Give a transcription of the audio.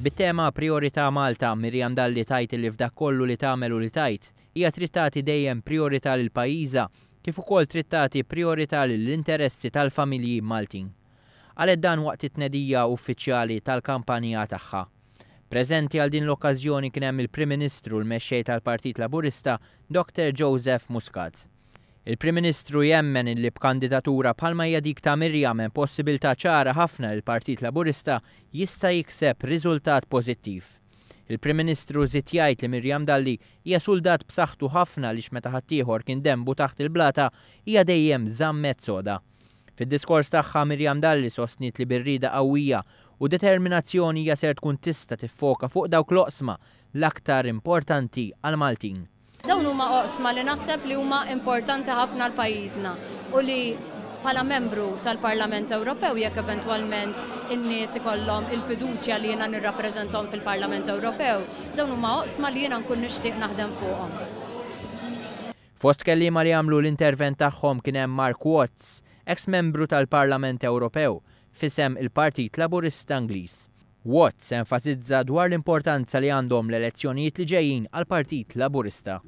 Bit-tema Prijorità Malta, Miriam Dalli tgħid li f'dak kollu li tagħmel u li tgħid, hija trid tagħti dejjem prijorità lil pajjiżha kif ukoll trid tagħti prijorità lill-interessi tal-familji Maltin. Qalet dan waqt it-tnedija uffiċjali tal-kampanja tagħha. Preżenti għal din l-okkażjoni kien hemm il-Prim Ministru u l-Mexxej tal-Partit Laburista Dr Joseph Muscat. Il-Prim Ministru jemmen illi b'kandidatura bħalma hija dik ta' Miriam hemm possibilità ċara ħafna li l-Partit Laburista jista' jikseb riżultat pożittiv. Il-Prim Ministru żied jgħid li Miriam Dalli hija suldat b'saħħtu ħafna għaliex meta ħaddieħor kien denbu taħt il-blata hija dejjem żammet soda. Fid-diskors tagħha Miriam Dalli sostniet li bir-rieda qawwija u determinazzjoni hija ser tkun tista' tiffoka fuq dawk l-oqsma l-aktar importanti għall-Maltin. Dawn huma oqsma li naħseb li huma importanti ħafna għal pajjiżna u li bħala membru tal-Parlament Ewropew jekk eventwalment in-nies ikollhom il-fiduċja li jiena nirrappreżentahom fil-Parlament Ewropew, dawn huma oqsma li jiena nkun nixtieq naħdem fuqhom. Fost kelliema li għamlu l-intervent tagħhom kien hemm Mark Watts, eks membru tal-Parlament Ewropew, f'isem il-Partit Laburista Ingliż. Watts enfasizza dwar l-importanza li għandhom l-elezzjonijiet li ġejjin għall-Partit Laburista.